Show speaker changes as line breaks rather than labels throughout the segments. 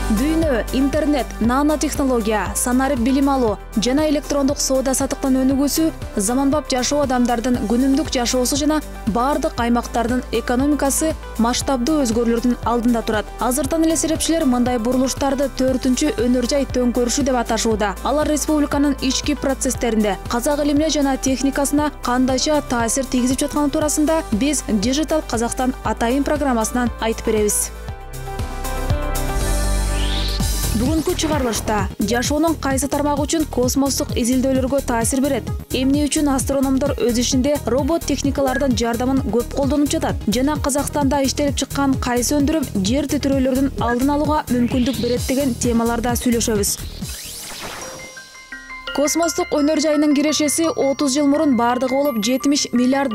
Дүйнө, интернет, нанотехнология, санарип билим алуу жана электрондук соода саттыктын өнүгүүсү заманбап жашоо адамдардын күнүмдүк жашоосу жана бардык аймактардын экономикасы масштабдуу өзгөрүүлөрдүн алдында турат. Азыртан эле серепчилер мындай бурулуштарды 4-чү өнөр жай төңкөрүшү деп аташууда. Алар республиканын ички процесстеринде казак илимине жана техникасына кандайча таасир тийгизип жатканы туурасында биз Digital Kazakhstan атайын программасынан айтып беребиз. Бүгүнкү чыгарылышта жашоонун кайсы тармагы үчүн космостук изилдөөлөргө таасир берет, эмне үчүн астрономдор өз ишинде робот техникалардын жардамын көп колдонуп жатат жана Казакстанда иштелип чыккан кайсы өндүрүм жер титирөөлөрдүн алдын алууга мүмкүндүк берет деген темаларда сүйлөшөбүз. Космостук өнөр жайынын кирешеси 30 жыл мурун бардыгы болуп $70 миллиард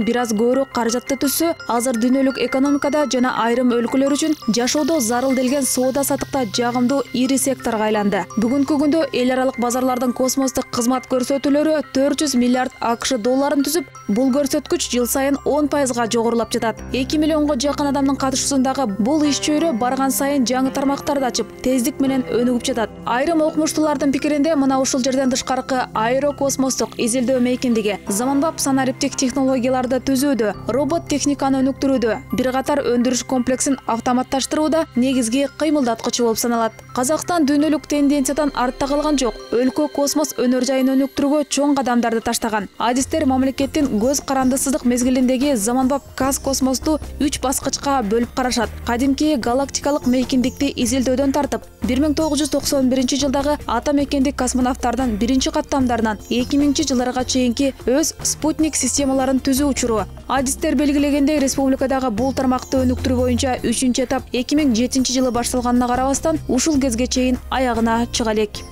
бир аз көбүрөөк каражатты түзсө, азыр дүйнөлүк экономикада жана айрым өлкөлөр үчүн жашоодо зарыл делген соода саттыкта жагымдуу ири секторго айланды. Бүгүнкү күндө эл аралык базарлардын космостук кызмат көрсөтүүлөрү $400 миллиард АКШ долларын түзүп, бул көрсөткүч жыл сайын 10%га жогорулап жатат. 2 миллионго жакын адамдын катышуусундагы бул иш чөйрө барган сайын жаңы тармактарды ачып, тездик менен өнүгүп жатат. Айрым окумуштуулардын пикиринде мына ушул жерден тышкаркы аэрокосмостук изилдөө мейкиндиги заманбап санариптик технологияларды түзүүдө, робот техниканы өнүктүрүүдө, бир катар өндүрүш комплексин автоматташтырууда негизги кыймылдаткычы болуп саналат. Казакстан дүйнөлүк тенденциядан артта калган жок. Өлкө космос өнөр жайын өнүктүрүүгө чоң кадамдарды таштаган. Адистер мамлекеттин көз карандысыздык мезгилиндеги заманбап космосту 3 баскычка бөлүп карашат. Кадимки галактикалык мейкиндикти изилдөөдөн тартып, 1991 жылдагы ата мекендик космонавттардын биринчи каттамдарынан 2000 жылдарга чейинки өз спутник системаларын түзүү учуру. Адистер белгилегендей, республикадагы бул тармакты өнүктүрүү боюнча 3-чү этап 2007 жылы башталганына карабастан, ушул кезге чейин аягына чыга элек.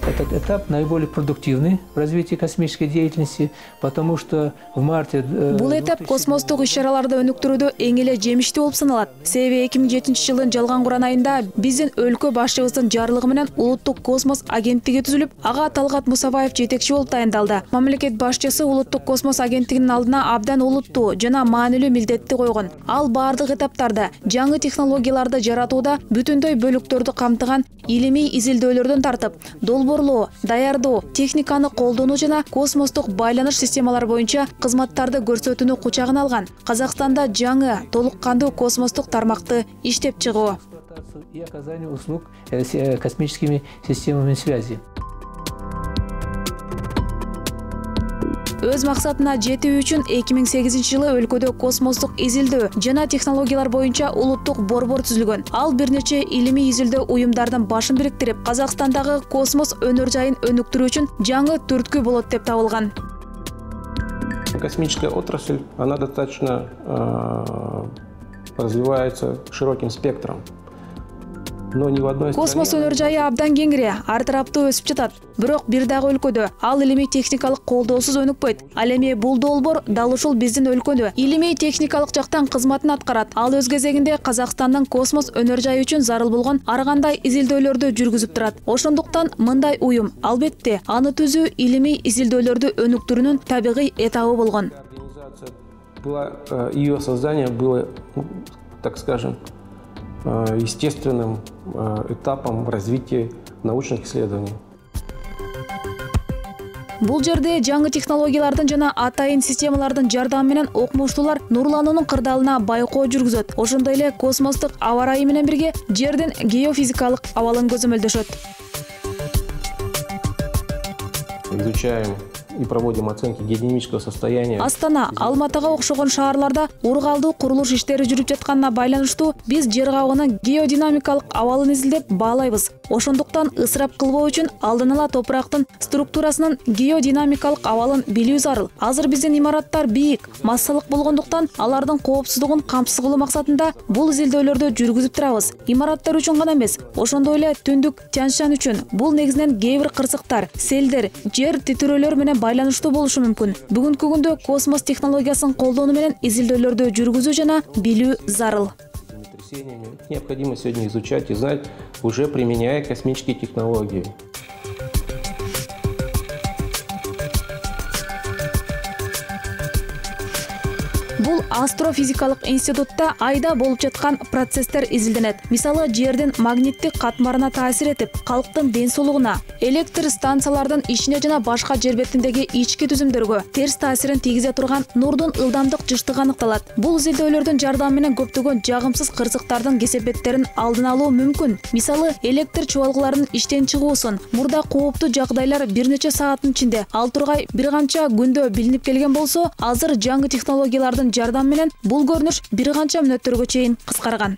Этот этап наиболее продуктивный в развитии космической деятельности, потому что в марте...
Бул этап космостук иш-чараларды өнүктүрүүдө эң эле жемиштүү болуп саналат. Себеби 2007 жылдын жалган куран айында биздин өлкө башчыбыздын жарлыгы менен улуттук космос агенттиги түзүлүп, ага Талгат Мусабаев жетекчи болуп тайындалды. Мамлекет башчысы улуттук космос агенттигинин алдына абдан олуттуу жана маанилүү милдетти койгон. Ал бардык этаптарда жаңы технологияларды жаратууда бүтүндөй бөлүктөрдү камтыган илимий изилдөөлөрдөн тартып, долбоорлоо, даярдоо, техниканы колдонуу жана космостук байланыш системалары боюнча кызматтарды көрсөтүүнү кучагына алган. Казакстанда жаңы, толук кандуу космостук тармакты иштеп чыгуу
и оказание услуг космическими системами связи.
Өз максатына жетүү үчүн 2008 жылы өлкөдө космостук изилдөө жана технологиялар боюнча улуттук борбор түзүлгөн. Ал бир нече илимий изилдөө уюмдардын башын бириктирип, Казакстандагы космос өнөр жайын өнүктүрүү үчүн жаңы түрткү болот деп табылган.
Космическая отрасль, она достаточно развивается широким спектром.
Космос өнөр жайы абдан кеңири, ар тараптуу өсүп жатат. Бирок бир дагы өлкөдө ал илимий техникалык колдоосуз өнүкпөйт. Ал эми бул долбоор дал ушул биздин өлкөдө илимий техникалык жактан кызматын аткарат. Ал өз кезегинде Казакстандын космос өнөр жайы үчүн зарыл болгон ар кандай изилдөөлөрдү жүргүзүп турат. Ошондуктан мындай уюм, албетте, аны түзүү илимий изилдөөлөрдү өнүктүрүүнүн табигый этабы болгон.
Ее создание было, так скажем, естественным этапом развития научных исследований.
Бул жерде жаңы технологиялардын жана атайын системалардын жардамы менен окумуштуулар нурлануунун кырдаалына байкоо жүргүзөт. Ошондой эле космостук аба ырайы менен бирге жердин геофизикалык абалын көзөмөлдөшөт.
Изучаем и проводим оценки геодинамического состояния.
Астана, Алматыга окшогон шаарларда ургалдуу курулуш иштери жүрүп жатканына байланыштуу биз жер кабыгынын геодинамикалык абалын изилдеп баалайбыз. Ошондуктан ысырап кылбоо үчүн алдын ала топурактын структурасынын геодинамикалык абалын билүү зарыл. Азыр биздин имараттар бийик, массалык болгондуктан алардын коопсуздугун камсыз кылуу максатында бул изилдөөлөрдү жүргүзүп турабыз. Имараттар үчүн гана эмес, ошондой эле түндүк Тянь-Шань үчүн бул негизинен кээ бир кырсыктар, селдер, жер титирөөлөр менен байланыштуу болушу мүмкүн. Бүгүнкү күндө космос технологиясын колдонуу менен изилдөөлөрдү жүргүзүү жана билүү зарыл.
Необходимо сегодня изучать и знать, уже применяя космические технологии.
Бул астрофизикалык институтта айда болуп жаткан процесстер изилденет. Мисалы, жердин магниттик катмарына таасир этип, калктын ден соолугуна, электр станциялардын ишине жана башка жер бетиндеги ички түзүмдөргө терс таасирин тийгизе турган нурдун ылдамдык жыштыгы аныкталат. Бул изилдөөлөрдүн жардамы менен көптөгөн жагымсыз кырсыктардын кесепеттерин алдын алуу мүмкүн. Мисалы, электр чубалгыларынын иштен чыгуусун мурда кооптуу жагдайлар бир нече сааттын ичинде, ал тургай бир канча күндө билинип келген болсо, азыр жаңы технологиялардын жардамы менен бул көрүнүш бир канча мүнөттөргө чейин кыскарган.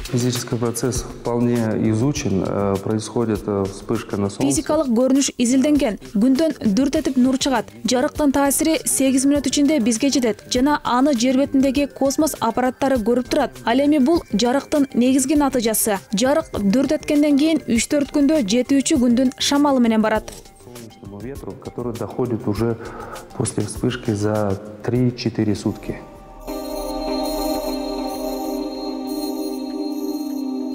Физический процесс вполне изучен, происходит вспышка на солнце.
Физикалык көрүнүш изилденген. Күндөн дүрт этип нур чыгат. Жарыктын таасири 8 мүнөт ичинде бизге жетет жана аны жер бетиндеги космос аппараттары көрүп турат. Ал эми бул жарыктын негизги натыйжасы. Жарык дүрт эткенден кийин 3-4 күндө жетүүчү күндүн шамалы менен барат.
Солнечному ветру, который доходит уже после вспышки за 3-4 сутки.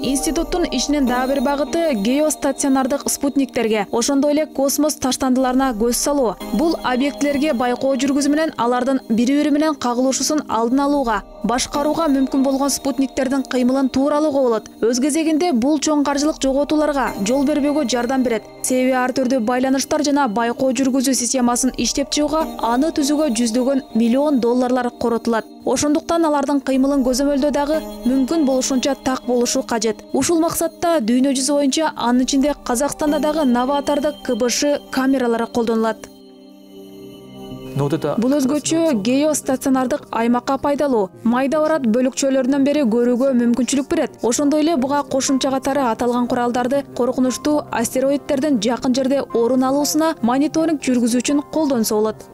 Институттун ишинин дагы бир багыты геостационардык спутниктерге, ошондой эле космос таштандыларына көз салуу. Бул объектилерге байкоо жүргүзүү менен алардын бири-бири менен кагылышуусун алдын алууга, башкарууга мүмкүн болгон спутниктердин кыймылын тууралууга болот. Өз кезегинде бул чоң каржылык жоготууларга жол бербөөгө жардам берет. Себеби ар түрдүү байланыштар жана байкоо жүргүзүү системасын иштеп чыгууга аны түзүүгө $100 миллион коротулат. Ошондуктан алардын кыймылын көзөмөлдөө дагы мүмкүн болушунча так болушу кажет. Ушул максатта дүйнө жүзү боюнча, анын ичинде Казакстанда дагы новатордук КБШ камералары колдонулат. Бул өзгөчө геостационардык аймакка пайдалуу, майда барат бөлүкчөлөрүнөн бери көрүүгө мүмкүнчүлүк берет. Ошондой эле буга кошумча катары аталган куралдарды коркунучтуу астероидтердин жакын жерде орун алуусуна мониторинг жүргүзүү үчүн колдонсо болот.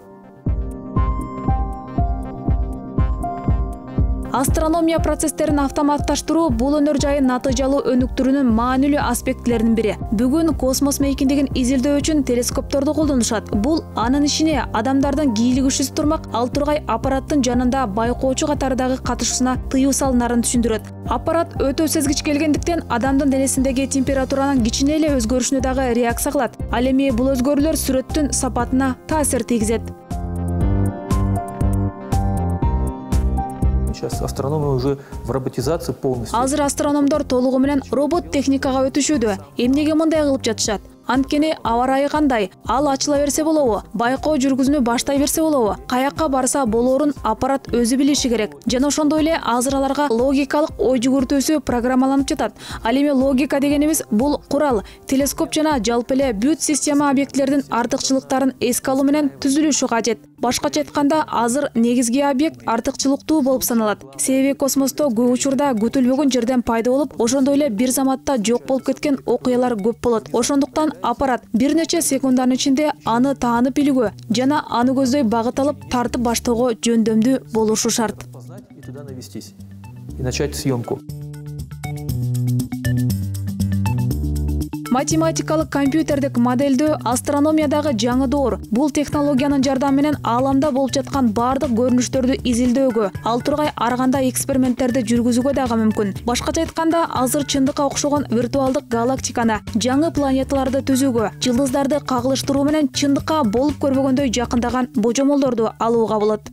Астрономия процесстерин автоматташтыруу бул өнөр жайын натыйжалуу өнүктүрүүнүн маанилүү аспектилеринин бири. Бүгүн космос мейкиндигин изилдөө үчүн телескопторду колдонушат. Бул анын ишине адамдардын кийлигишүүсү турмак, ал тургай аппараттын жанында байкоочу катардагы катышуусуна тыюу салынарын түшүндүрөт. Аппарат өтө сезгич келгендиктен адамдын денесиндеги температуранын кичине эле өзгөрүшүнө дагы реакция кылат. Ал эми бул өзгөрүүлөр сүрөттүн сапатына таасир тийгизет.
Сейчас астрономы уже в роботизации полностью.
Азыр астрономдор толугу менен робот техникага өтүшүүдө. Эмнеге мындай кылып жатышат? Анткени аба ырайы кандай, ал ачыла берсе болобу, байкоо жүргүзүүнү баштай берсе болобу, каякка барса болоорун аппарат өзү билиши керек. Жана ошондой эле азыр аларга логикалык ой жүгүртүүсү программаланып жатат. Ал эми логика дегенибиз бул курал, телескоп жана жалпы эле бүт система объектилердин артыкчылыктарын эске алуу менен түзүлүшү кажет. Башкача айтканда, азыр негизги объект артыкчылыктуу болуп саналат. Себеби космосто көп учурда күтүлбөгөн жерден пайда болуп, ошондой эле бир заматта жок болуп кеткен окуялар көп болот. Ошондуктан аппарат бир нече секунддардын ичинде аны таанып билүүгө жана аны көздөй багыт алып тартып баштоого жөндөмдүү болушу шарт.
И туда навестись. И начать съемку.
Математикалык компьютердик модельдөө астрономиядагы жаңы доор. Бул технологиянын жардамы менен ааламда болуп жаткан бардык көрүнүштөрдү изилдөөгө, ал тургай ар кандай эксперименттерди жүргүзүүгө дагы мүмкүн. Башкача айтканда, азыр чындыкка окшогон виртуалдык галактиканы, жаңы планеталарды түзүүгө, жылдыздарды кагылыштыруу менен чындыкка болуп көрбөгөндөй жакындаган божомолдорду алууга болот.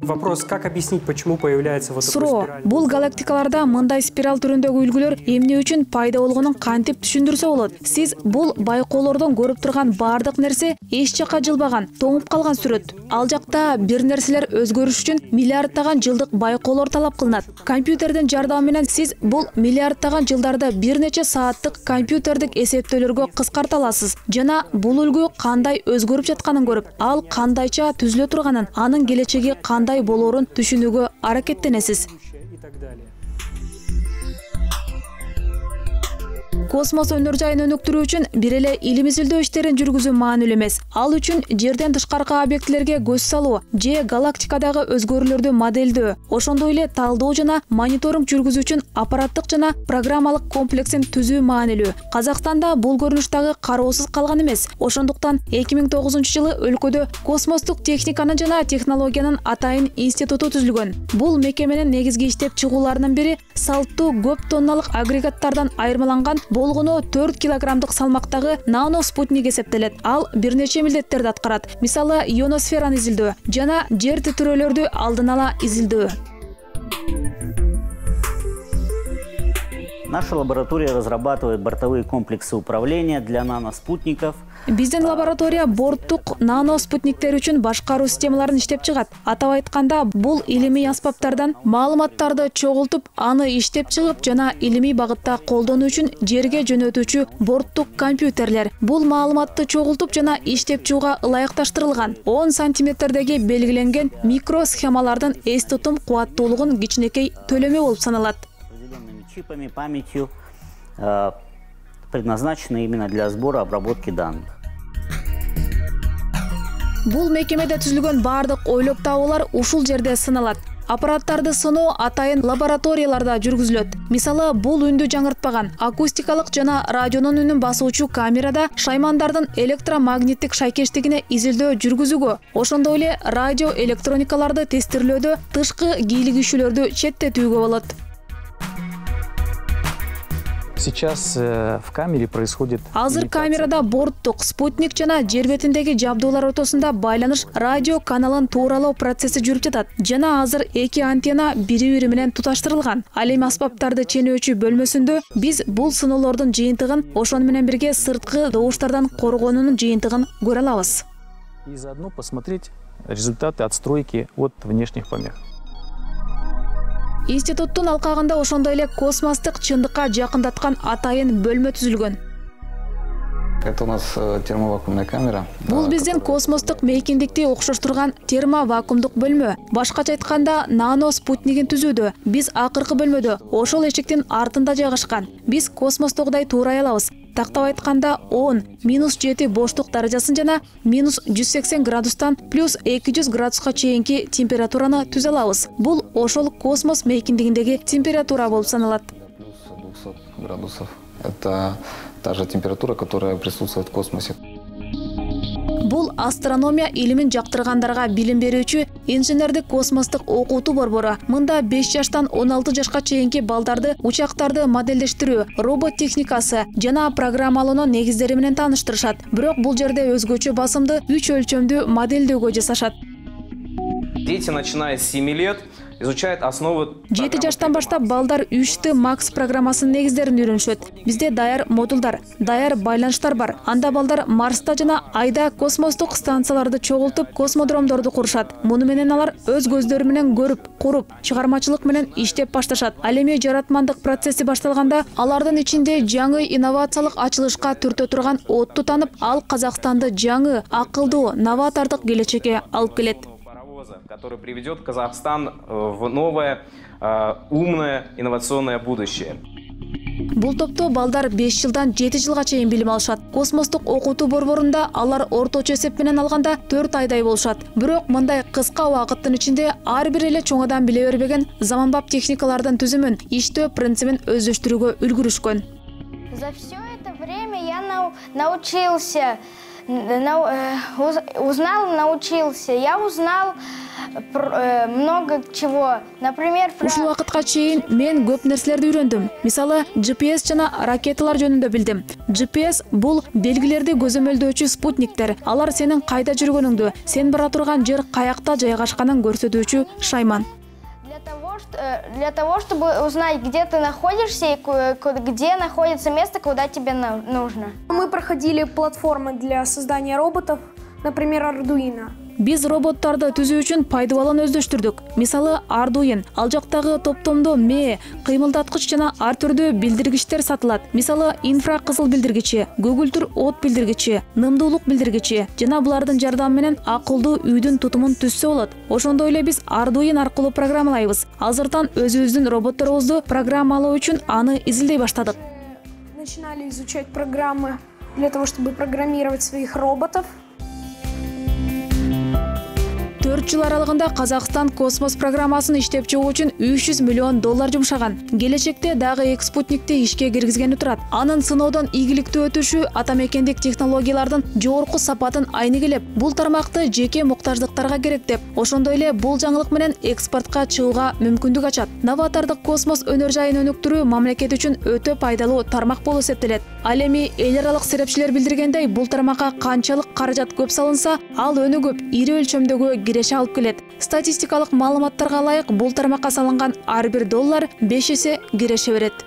Вопрос, как объяснить, почему появляется вот такой
суроо,
спираль?
бул галактикаларда мындай спираль түрүндөгү үлгүлөр эмне үчүн пайда болгонун кантип түшүндүрсө болот? Сиз бул байкоолордон көрүп турган бардык нерсе эч жакка жылбаган, тоңуп калган сүрөт. Ал жакта бир нерселер өзгөрүш үчүн миллиарддаган жылдык байкоолор талап кылынат. Компьютердин жардамы менен сиз бул миллиарддаган жылдарды бир нече сааттык компьютердик эсептөөлөргө кыскарта аласыз жана бул үлгү кандай өзгөрүп жатканын көрүп, ал кандайча түзүлө турганын, анын келечеги кандай болоорун түшүнүүгө аракеттенесиз.
И так далее.
Космос өнөр жайын өнүктүрүү үчүн бир эле илим изилдөө иштерин жүргүзүү маанилүү эмес. Ал үчүн жерден тышкаркы объектилерге көз салуу, же галактикадагы өзгөрүүлөрдү модельдөө, ошондой эле талдоо жана мониторинг жүргүзүү үчүн аппараттык жана программалык комплексин түзүү маанилүү. Казакстанда бул көрүнүш дагы кароосуз калган эмес. Ошондуктан 2009-жылы өлкөдө космостук техниканын жана технологиянын атайын институту түзүлгөн. Бул мекеменин негизги иштеп чыгууларынын бири салттуу көп тонналык агрегаттардан айырмаланган болгону 4 килограммдык салмактагы нано спутник эсептелет. Ал бир нече милдеттерди аткарат. Мисалы, ионосфераны изилдөө жана жер титирөөлөрдү алдын ала изилдөө.
Наша лаборатория разрабатывает бортовые комплексы управления для наноспутников.
Биздин лаборатория борттук нано спутниктер үчүн башкаруу системаларын иштеп чыгат. Атап айтканда, бул илимий аспаптардан маалыматтарды чогултуп, аны иштеп чыгып жана илимий багытта колдонуу үчүн жерге жөнөтүүчү борттук компьютерлер. Бул маалыматты чогултуп жана иштеп чыгууга ылайыкташтырылган 10 сантиметрдеги белгиленген микросхемалардын эс тутум кубаттуулугун кичинекей төлөмө болуп саналат.
Чипами, памятью, предназначены именно для сбора и обработки данных.
Бул мекемеде түзүлгөн бардык ойлоп табуулар ушул жерде сыналат. Аппараттарды сыноо атайын лабораторияларда жүргүзүлөт. Мисалы, бул үндү жаңыртпаган акустикалык жана радионун үнүн басуучу камерада шаймандардын электромагниттик шайкештигине изилдөө жүргүзүүгө, ошондой эле радио электроникаларды тестирлөөдө тышкы кийлигишүүлөрдү четтетүүгө болот.
Сейчас в камере происходит...
Азыр камерада борттук, спутник жана жер бетиндеги жабдуулар ортосунда байланыш радио каналын тууралоо процесси жүрүп жатат. Жана азыр эки антенна бири-бири менен туташтырылган. Ал эми аспаптарды ченөөчү бөлмөсүндө биз бул сыноолордун жыйынтыгын, ошону менен бирге сырткы добуштардан коргоонунун жыйынтыгын көрө алабыз.
И заодно посмотреть результаты отстройки от внешних помех.
Институттун алкагында ошондой эле космостук чындыкка жакындаткан атайын бөлмө түзүлгөн.
Это у нас термовакуумная камера.
Бул биздин космостук мейкиндикти окшоштурган термовакуумдук бөлмө. Башкача айтканда, нано спутнигин түзүүдө биз акыркы бөлмөдө, ошол эшиктин артында жайгашкан. Биз космостогудай туурай алабыз. Тактап айтканда 10-7 боштук даражасын жана -180 градустан +200 градуска чейинки температураны түзө алабыз. Бул ошол космос мейкиндигиндеги температура болуп саналат.
+200 градусов. Это та же температура, которая присутствует в космосе.
Бул астрономия илимин жактыргандарга билим берүүчү инженердик космостук окутуу борбору. Мында 5 жаштан 16 жашка чейинки балдарды учактарды модельдештирүү, робот техникасы жана программалоонун негиздери менен тааныштырышат. Бирок бул жерде өзгөчө басымды 3 өлчөмдүү моделдөөгө жасашат.
Дети, начиная с 7 лет, изучают основы...
7 жаштан баштап балдар 3T Max программасынын негиздерин үйрөнүшөт. Бизде даяр модулдар, даяр байланыштар бар. Анда балдар Марста жана Айда космостук станцияларды чогултуп, космодромдорду курушат. Муну менен алар өз көздөрү менен көрүп, куруп, чыгармачылык менен иштеп башташат. Ал эми жаратмандык процесси башталганда, алардын ичинде жаңы инновациялык ачылышка түртө турган отту танып, ал Казакстанды жаңы, акылдуу, новатордук келечекке алып келет.
Который приведет Казахстан в новое, умное, инновационное будущее.
Бул топто балдар 5 жылдан 7 жылга чейин билим алышат. Космостук окутуу борборунда алар орточо эсеп менен алганда 4 айдай болушат. Бирок мындай кыска убакыттын ичинде ар бир эле чоңодан биле бербеген заманбап техникалардын түзүмүн, иштөө принцибин өздөштүрүүгө үлгүрүшкөн.
За все это время я научился, научился. Я узнал много чего. Например,
ушул убакытка чейин мен көп нерселерди үйрөндүм. Мисалы, GPS жана ракеталар жөнүндө билдим. GPS бул белгилерди көзөмөлдөөчү спутниктер. Алар сенин кайда жүргөнүңдү, сен бара турган жер каякта жайгашканын көрсөтүүчү шайман.
Для того, чтобы узнать, где ты находишься и где находится место, куда тебе нужно.
Мы проходили платформы для создания роботов, например, Arduino.
Биз роботтарды түзүү үчүн пайдыбалын өздөштүрдүк. Мисалы, Arduino. Ал жактагы топтомдо кыймылдаткыч жана ар түрдүү билдиргичтер сатылат. Мисалы, инфракызыл билдиргичи, көгүлтүр от билдиргичи, нымдуулук билдиргичи жана булардын жардамы менен акылдуу үйдүн тутумун түзсө болот. Ошондой эле биз Arduino аркылуу программалайбыз. Азыртан өзүбүздүн роботторубузду программалоо үчүн аны изилдей баштадык.
Начинали изучать программы для того, чтобы программировать своих роботов.
4 $4 жыл аралыгында Казакстан космос программасын иштеп чыгуу үчүн $300 миллион жумшаган. Келечекте дагы 2 спутникти ишке киргизгени турат. Анын сыноодон ийгиликтүү өтүшү атамекендик технологиялардын жогорку сапатын айнегелеп, бул тармакты жеке муктаждыктарга керек деп, ошондой эле бул жаңылык менен экспортко чыгууга мүмкүндүк ачат. Новатордук космос өнөр жайын өнүктүрүү мамлекет үчүн өтө пайдалуу тармак болуп эсептелет. Ал эми эл аралык серепчилер билдиргендей, бул тармакка канчалык каражат көп салынса, ал өнүгүп, ири өлчөмдөгү киреше алып келет. Статистикалык маалыматтарга ылайык, бул тармакка салынган ар бир $5 эсе киреше берет.